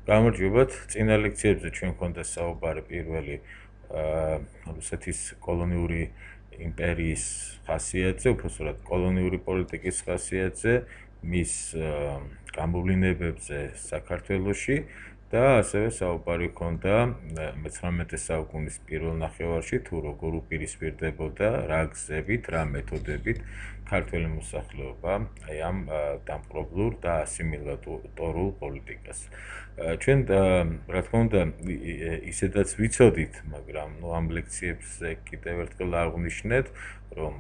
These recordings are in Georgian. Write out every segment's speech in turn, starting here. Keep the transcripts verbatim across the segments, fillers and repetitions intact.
გამარჯობათ. წინა ლექციებზე ჩვენ გქონდა საუბარი პირველი რუსეთის კოლონიური იმპერიის ხასიათზე, უბრალოდ კოლონიური პოლიტიკის ხასიათზე, მის გამოვლინებებზე საქართველოში და ასევე საუბარი გქონდა მეცხრამეტე საუკუნის პირველ ნახევარში თუ როგორ უპირისპირდებოდა რა გზებით, რა მეთოდებით ქართველი მოსახლეობა აი ამ დამპყრობლურ და ასიმილატორულ პოლიტიკას. ჩვენ რა თქმა უნდა ისედაც ვიცოდით, მაგრამ ნუ ამ ლექციებზე კიდევ ერთხელ აღვნიშნეთ, რომ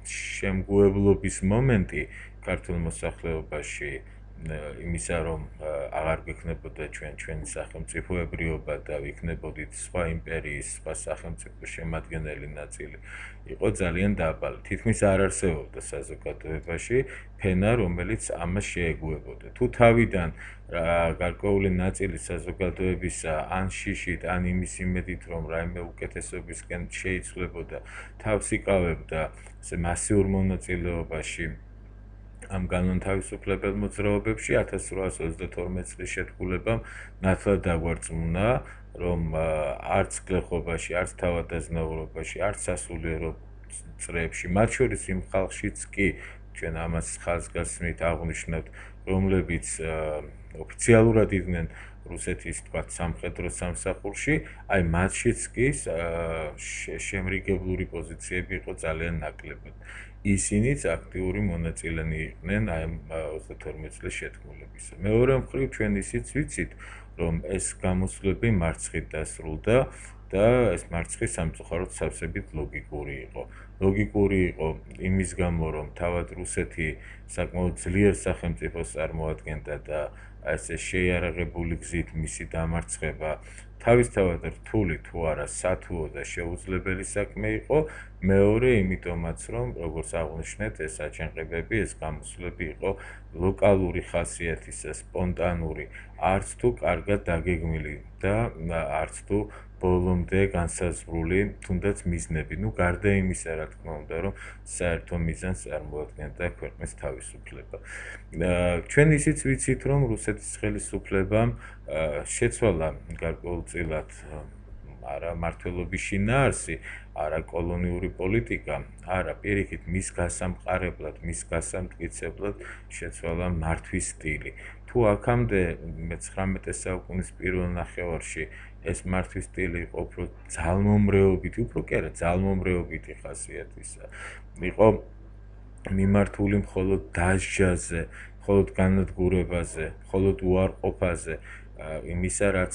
შემგუებლობის მომენტი ქართულ მოსახლეობაში იმისა, რომ აღარ გვექნებოდა ჩვენ ჩვენი სახელმწიფოებრიობა და ვიქნებოდით სხვა იმპერიის, სხვა სახელმწიფოს შემადგენელი ნაწილი, იყო ძალიან დაბალი. თითქმის არ არსებობდა საზოგადოებაში ფენა, რომელიც ამას შეეგუებოდა. თუ თავიდან გარკვეული ნაწილი საზოგადოებისა ან შიშით, ან იმის იმედით, რომ რაიმე უკეთესობისკენ შეიცვლებოდა, თავს იკავებდა მასიურ მონაწილეობაში ამ განმათავისუფლებელ მოძრაობებში ათას რვაას ოცდათორმეტ წლის შეთქმულებამ ნათლად დაგვარწმუნა, რომ არც გლეხობაში, არც თავადაზნაურობაში, არც სასულიერო წრეებში, მათ შორის იმ ხალხშიც კი ჩვენ ამას ხაზგასმით აღვნიშნებთ, რომლებიც ოფიციალურად იყვნენ რუსეთის თქვათ სამხედრო სამსახურში, აი მათშიც კი შემრიგებლური პოზიციები იყო ძალიან ნაკლებად. ისინიც აქტიური მონაწილენი იყვნენ აი ამ ოცდათორმეტ წლის შეთქმულებისა. მეორე მხრივ ჩვენ ისიც ვიცით, რომ ეს გამოსვლები მარცხით დასრულდა და ეს მარცხი სამწუხაროდ სავსებით ლოგიკური იყო. ლოგიკური იყო იმის გამო, რომ თავად რუსეთი საკმაოდ ძლიერ სახელმწიფოს წარმოადგენდა და ესე შეიარაღებული გზით მისი დამარცხება თავისთავად რთული თუ არა სათუო და შეუძლებელი საქმე იყო. მეორე იმიტომაც, რომ როგორც აღვნიშნეთ, ეს აჯანყებები, ეს გამოსვლები იყო ლოკალური ხასიათისა, სპონტანური, არც თუ კარგად დაგეგმილი და არც თუ ბოლომდე განსაზღვრული, თუნდაც მიზნები. ნუ გარდა იმისა, რა თქმა უნდა, რომ საერთო მიზანს წარმოადგენდა ქვეყნის თავისუფლება. ჩვენ ისიც ვიცით, რომ რუსეთის ხელისუფლებამ შეცვალა გარკვეულწილად არა მართლობის შინაარსი, არა კოლონიური პოლიტიკა, არა პირიქით მის გასამყარებლად, მის გასამტკიცებლად შეცვალა მართვის სტილი. თუ აქამდე მეცხრამეტე საუკუნის პირველ ნახევარში ეს მართვის სტილი იყო უფრო ძალმომრეობითი, უფრო კი არა ძალმომრეობითი ხასიათისა. იყო მიმართული მხოლოდ დასჯაზე, მხოლოდ განადგურებაზე, მხოლოდ უარყოფაზე, იმისა, რაც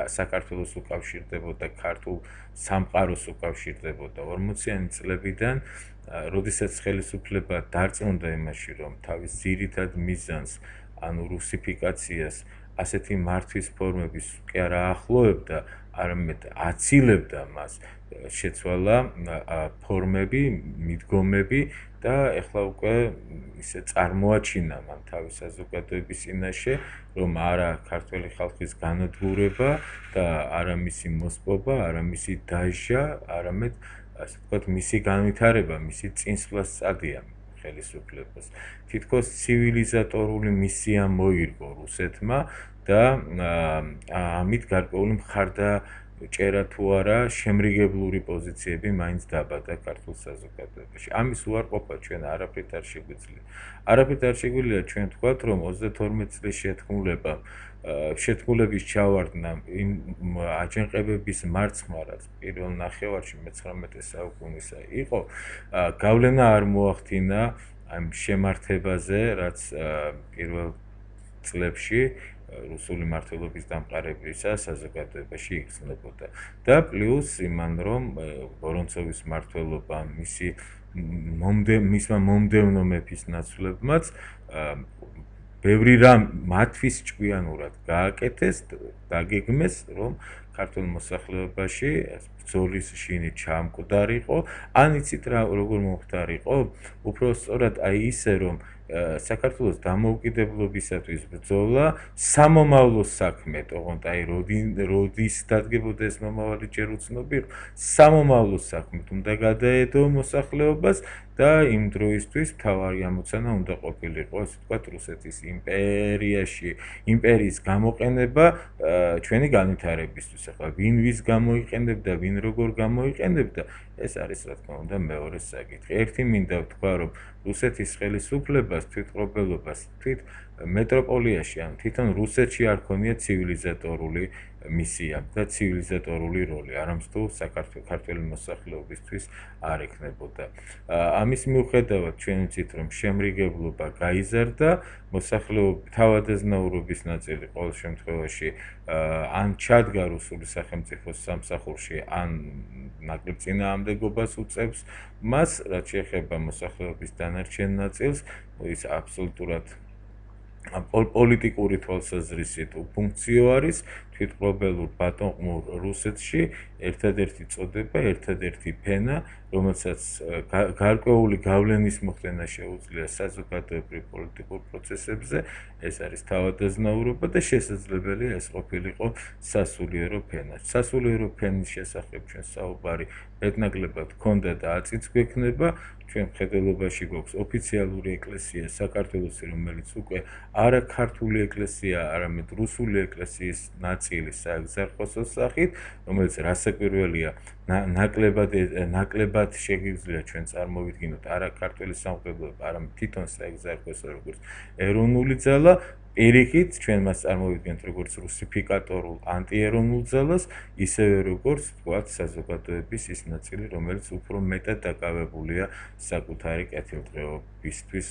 საქართველოს უკავშირდებოდა, ქართულ სამყაროს უკავშირდებოდა. ორმოციანი წლებიდან, როდესაც ხელისუფლება დარწმუნდა იმაში, რომ თავის ძირითად მიზანს, ანუ რუსიფიკაციას, ასეთი მართვის ფორმების კი არა ახლოვებდა, არამედ აცილებდა მას, შეცვალა ფორმები, მიდგომები და ეხლა უკვე ისე წარმოაჩინა მან თავის საზოგადოების წინაშე, რომ არა ქართველი ხალხის განადგურება და არა მისი მოსპობა, არა მისი დასჯა, არამედ ასე ვთქვათ, მისი განვითარება, მისი წინსვლა სწადია ხელისუფლებას. თითქოს ცივილიზატორული მისია მოირგო რუსეთმა და ამით გარკვეული მხარდაჭერა თუ არა შემრიგებლური პოზიციები მაინც დაბადა ქართულ საზოგადოებაში. ამის უარყოფა ჩვენ არაფრით არ შეგვიძლია. არაფრით არ შეგვიძლია ჩვენ თქვათ, რომ ოცდათორმეტ წლის შეთქმულებამ შეთქმულების ჩავარდნა იმ აჯანყებების მარცხმა, რაც პირველ ნახევარში მეცხრამეტე საუკუნისა იყო, გავლენა არ მოახდინა ამ შემართებაზე, რაც პირველ წლებში რუსული მართლობის დამყარებისა საზოგადოებაში იგრძნობოდა. და პლუს იმან, რომ ვორონცოვის მმართველობა მისი მისმა მომდევნო მეფის ნაცვლებმაც ბევრი რამ მათთვის ჭკვიანურად გააკეთეს, დაგეგმეს, რომ ქართულ მოსახლეობაში ბრძოლის შინი ჩამკვდარიყო, ან იცით რა როგორ მომხდარიყო? უფრო სწორად აი ისე, რომ საქართველოს დამოუკიდებლობისათვის ბრძოლა სამომავლოს საქმე, თუმცა აი როდის დადგებოდა ეს მომავალი ჯერ უცნობი, სამომავლოს საქმე უნდა გადაედო მოსახლეობას და იმ დროისთვის მთავარი ამოცანა უნდა ყოფილიყო, ასე ვთქვათ, რუსეთის იმპერიაში, იმპერიის გამოყენება ჩვენი განვითარებისთვის. ახლა ვინ ვის გამოიყენებდა, ვინ როგორ გამოიყენებდა, ეს არის რა თქმა უნდა მეორე საკითხი. ერთი მინდა ვთქვა, რომ რუსეთის ხელისუფლებას, თვითმყოფელობას, თვით მეტროპოლიაში, ან თვითონ რუსეთში არ ქონია ცივილიზატორული მისია და ცივილიზატორული როლი, არამსთუ საქართველოს ქართული მოსახლეობისთვის არ ექნებოდა. ამის მიუხედავად ჩვენ ვიცით, რომ შემრიგებლობა გაიზარდა, მოსახლეობის თავადაზნაურობის ნაწილი ყოველ შემთხვევაში ან ჩადგა რუსული სახელმწიფოს სამსახურში, ან ნაკლებ წინააღმდეგობას უწევს მას, რაც შეეხება მოსახლეობის დანარჩენ ნაწილს, ის აბსოლუტურად პოლიტიკური თვალსაზრისით უფუნქციო არის თვითმყოფელურ ბატონყმურ რუსეთში ერთადერთი წოდება, ერთადერთი ფენა, რომელსაც გარკვეული გავლენის მოხდენა შეუძლია საზოგადოებრივ პოლიტიკურ პროცესებზე, ეს არის თავადაზნაურობა და შესაძლებელია ეს ყოფილიყო სასულიერო ფენა. სასულიერო ფენის შესახებ ჩვენ საუბარი მეტნაკლებად ჰქონდა და აწიც გვექნება. ჩვენ მხედველობაში გვაქვს ოფიციალური ეკლესია საქართველოსი, რომელიც უკვე არა ქართული ეკლესია, არამედ რუსული ეკლესიის ნაწილი საეგზარქოსოს სახით, რომელიც რასაკვირველია, ნაკლებად ნაკლებად შეგვიძლია ჩვენ წარმოვიდგინოთ არა ქართული სამღვდელოება, არამედ თვითონ საეგზარქოსო როგორც ეროვნული ძალა. პირიქით ჩვენ მას წარმოვიდგენთ როგორც რუსიფიკატორულ ანტიეროვნულ ძალას, ისევე როგორც ვთქვათ საზოგადოების ის ნაწილი, რომელიც უფრო მეტად დაკავებულია საკუთარი კეთილდღეობისთვის,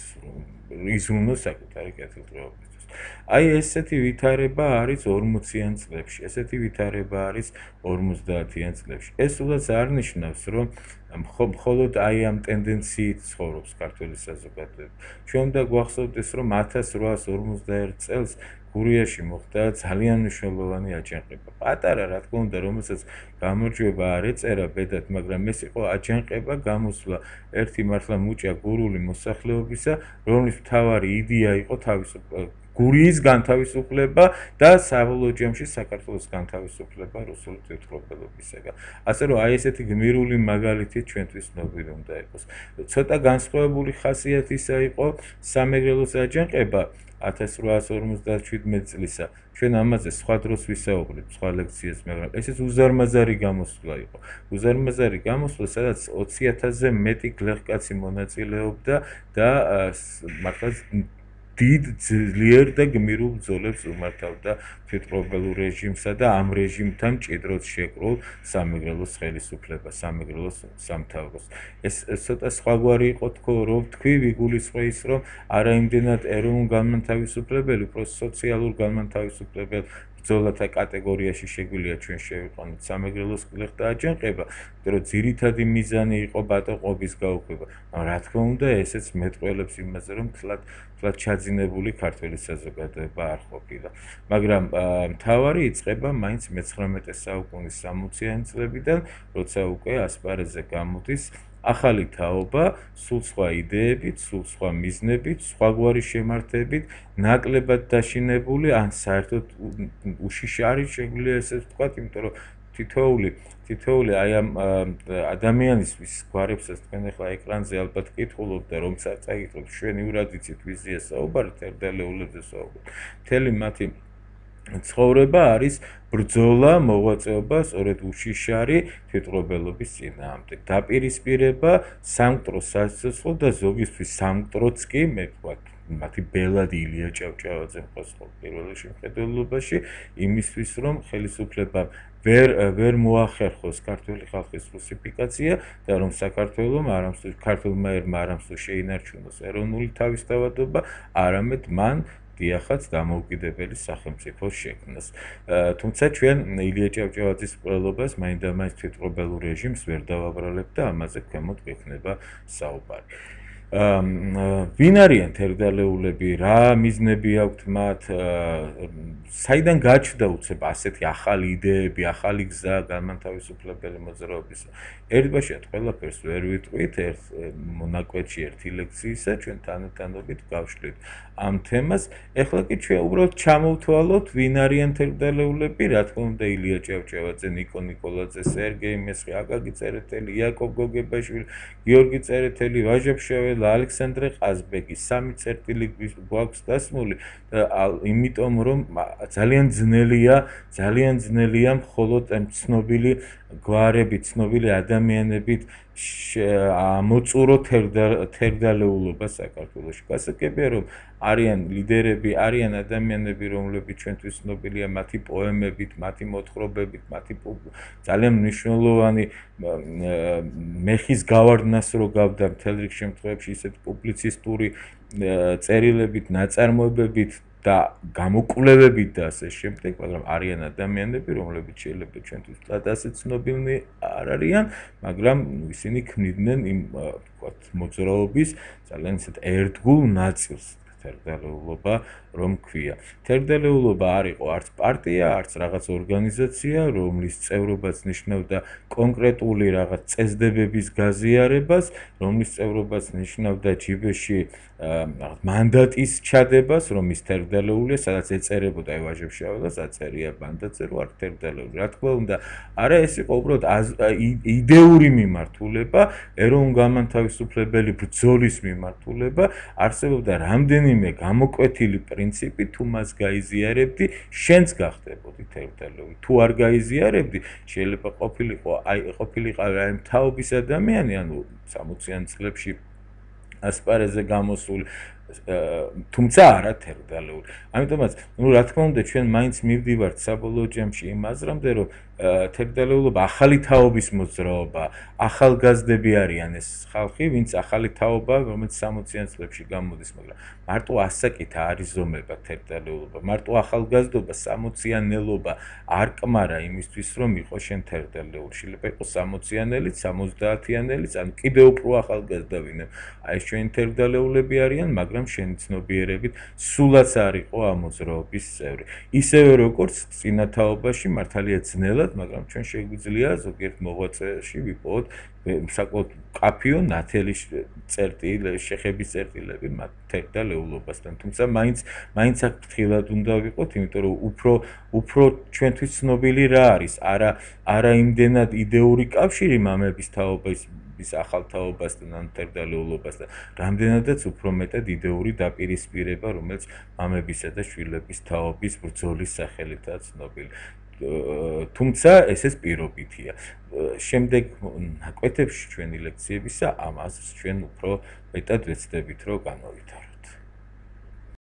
იზრუნოს საკუთარი კეთილდღეობისთვის. აი ესეთი ვითარება არის ორმოციან წლებში, ესეთი ვითარება არის ორმოცდაათიან წლებში. ეს სულაც არ ნიშნავს, რომ მხოლოდ აი ამ ტენდენციით ცხოვრობს ქართული საზოგადოება. ჩვენ უნდა გვახსოვდეს, რომ ათას რვაას ორმოცდაერთ წელს გურიაში მოხდა ძალიან მნიშვნელოვანი აჯანყება. პატარა, რა თქმა უნდა, რომელსაც გამარჯვება არ ეწერა ბედად, მაგრამ ეს იყო აჯანყება, გამოსვლა ერთი მართლა მუჭა გურული მოსახლეობისა, რომლის მთავარი იდეა იყო თავისუფლება, გურიის განთავისუფლება და საბოლოო ჯამში საქართველოს განთავისუფლება რუსული თვითმყოფელობისაგან. ასე რომ აი ესეთი გმირული მაგალითი ჩვენთვის ცნობილი უნდა იყოს. ცოტა განსხვავებული ხასიათისა იყო სამეგრელოს აჯანყება ათას რვაას ორმოცდაშვიდმეტ წლისა. ჩვენ ამაზე სხვა დროს ვისაუბრებთ, სხვა ლექციას, მაგრამ ესეც უზარმაზარი გამოსვლა იყო. უზარმაზარი გამოსვლა, სადაც ოცი ათასზე მეტი გლეხკაცი მონაწილეობდა და მართლა დიდ ძლიერ და გმირულ ბრძოლებს უმართავდა თვითმყოფელურ რეჟიმსა და ამ რეჟიმთან მჭიდროდ შეკრულ სამეგრელოს ხელისუფლებას, სამეგრელოს სამთავროს. ეს ცოტა სხვაგვარი იყო თქო, რომ თქვი ვიგულისხმე ის, რომ არა იმდენად ეროვნულ განმათავისუფლებელი, უფრო სოციალურ განმათავისუფლებელ ბრძოლათა კატეგორიაში შეგვიძლია ჩვენ შევიყვანოთ სამეგრელოს გლეხთა აჯანყება, რომ ძირითადი მიზანი იყო ბატონყმობის გაუქმება. რა თქმა უნდა, ესეც მეტყველებს იმაზე, რომ თლად თლად ჩაძინებული ქართული საზოგადოება არ ყოფილა. მაგრამ მთავარი იწყება მაინც მეცხრამეტე საუკუნის სამოციან წლებიდან, როცა უკვე ასპარეზზე გამოდის ახალი თაობა, სულ სხვა იდეებით, სულ სხვა მიზნებით, სხვაგვარი შემართებით, ნაკლებად დაშინებული, ან საერთოდ უშიშარი შეგვიძლია ესე ვთქვათ, იმიტომ რომ თითოეული თითოეული აი ამ ადამიანისთვის გვარებსაც თქვენ ახლა ეკრანზე ალბათ კითხულობთ და რომ წაიკითხოთ, შვენივრად იცით ვიზია საუბარი, თერდალეულებზე საუბარი. მთელი მათი ცხოვრება არის ბრძოლა, მოღვაწეობა, სწორედ უშიშარი თვითმყოფელობის წინააღმდეგ. დაპირისპირება, სამკვდრო სასიცოცხლო და ზოგისთვის სამკვდროც კი, მე ვთქვათ, მათი ბელადი ილია ჭავჭავაძე მყავს პირველ შემხედველობაში, იმისთვის, რომ ხელისუფლებამ ვერ ვერ მოახერხოს ქართული ხალხის რუსიფიკაცია და რომ საქართველოს არამსუ ქართულმა ერმა არამსუ შეინარჩუნოს ეროვნული თავისთავადობა, არამედ მან დიახაც დამოუკიდებელი სახელმწიფო შექმნას. თუმცა ჩვენ ილია ჭავჭავაძის მკვლელობას მაინდამაინც თვითმყოფელურ რეჟიმს ვერ დავაბრალებთ და ამაზე ქვემოთ გვექნება საუბარი. ვინ არიან თერგდალეულები, რა მიზნები აქვთ მათ, საიდან გაჩნდა უცებ ასეთი ახალი იდეები, ახალი გზა განმათავისუფლებელი მოძრაობის. ერთბაშად ყველაფერს ვერ ვიტყვით, ერთ მონაკვეთში ერთი ლექციისა, ჩვენ თანათანობით გავშლით ამ თემას. ეხლა კი ჩვენ უბრალოდ ჩამოვთვალოთ, ვინ არიან თერგდალეულები, რა თქმა უნდა, ილია ჭავჭავაძე, ნიკო ნიკოლაძე, სერგეი მესხი, აკაკი წერეთელი, იაკობ გოგებაშვილი, გიორგი წერეთელი, ვაჟა ფშაველა, ალექსანდრე ყაზბეკი, სამი წერტილი გვაქვს დასმული და იმიტომ რომ ძალიან ძნელია, ძალიან ძნელია მხოლოდ ცნობილი გვარებით, ცნობილი ადამიანებით მოწურო თერგდალეულობა საქართველოში. გასაგებია რომ არიან ლიდერები, არიან ადამიანები, რომლებიც ჩვენთვის ცნობილია მათი პოემებით, მათი მოთხრობებით, მათი ძალიან მნიშვნელოვანი მეხის გავარდნას რო გავდა მთელ რიგ შემთხვევებში ისეთ პუბლიცისტური წერილებით, ნაწარმოებებით და გამოკვლევებით და ასე შემდეგ, მაგრამ არიან ადამიანები, რომლებიც შეიძლება ჩვენთვის ასე ცნობილნი არ არიან, მაგრამ ისინი ქმნიდნენ იმ ვთქვათ მოძრაობის ძალიან ისეთ ერთგულ ნაწილს. თერგდალეულობა რომ ქვია. თერგდალეულობა არ იყო არც პარტია, არც რაღაც ორგანიზაცია, რომლის წევრობაც ნიშნავდა კონკრეტული რაღაც წესდებების გაზიარებას, რომლის წევრობაც ნიშნავდა ჯიბეში მანდატის ჩადებას, რომ ის თერგდალეულია, სადაც ეწერებოდა ვაჟა ფშაველას, აწერია მანდატზე, რომ არ თერგდალეული. რა თქმა უნდა, არა ეს იყო უბრალოდ იდეური მიმართულება, ეროვნულ-განმათავისუფლებელი ბრძოლის მიმართულება, არსებობდა რამდენიმე გამოკვეთილი პრინციპი, თუ მას გაიზიარებდი, შენც გახდებოდი თერგდალეული. თუ არ გაიზიარებდი, შეიძლება ყოფილიყო, აი ყოფილიყავი აი მთავობის ადამიანი, ანუ სამოციან წლებში ასპარეზზე გამოსული, თუმცა არა თერგდალეული. ამიტომაც, ნუ რა თქმა უნდა, ჩვენ მაინც მივდივართ საბოლოო ჯამში იმ აზრამდე, რომ თერგდალეულობა ახალი თაობის მოძრაობა, ახალგაზრდები არიან ეს ხალხი, ვინც ახალი თაობა, რომელიც სამოციან წლებში გამოდის, მაგრამ მარტო ასაკით არ იზომება თერგდალეულობა, მარტო ახალგაზრდობა, სამოციანელობა არ კმარა იმისთვის, რომ იყო შენ თერგდალეული. შეიძლება იყოს სამოციანელიც, სამოცდაათიანელიც, ან კიდევ უფრო ახალგაზრდა ვინმე. აი ეს ჩვენი თერგდალეულები არიან, მაგრამ შენი ცნობიერებით სულაც არ იყო ამ მოძრაობის წევრი. ისევე როგორც წინა თაობაში მართალია ძნელად, მაგრამ ჩვენ შეგვიძლია ზოგიერთ მოღვაწეში ვიპოვოთ საკმაოდ კაფიო ნათელი წერტილი, შეხების წერტილები მათ თერგდალეულობასთან. თუმცა მაინც მაინც აქ ფრთხილად უნდა ვიყოთ, იმიტომ რომ უფრო უფრო ჩვენთვის ცნობილი რა არის, არა არა იმდენად იდეური კავშირი მამების თაობის ის ახალ თაობასთან ან თერგდალეულობასთან, რამდენადაც უფრო მეტად იდეური დაპირისპირება, რომელიც მამებისა და შვილების თაობის ბრძოლის სახელითაა ცნობილი. თუმცა ესეც პირობითია. შემდეგ ნაკვეთებში ჩვენი ლექციებისა ამას ჩვენ უფრო მეტად ვეცდებით, რომ განვავითაროთ.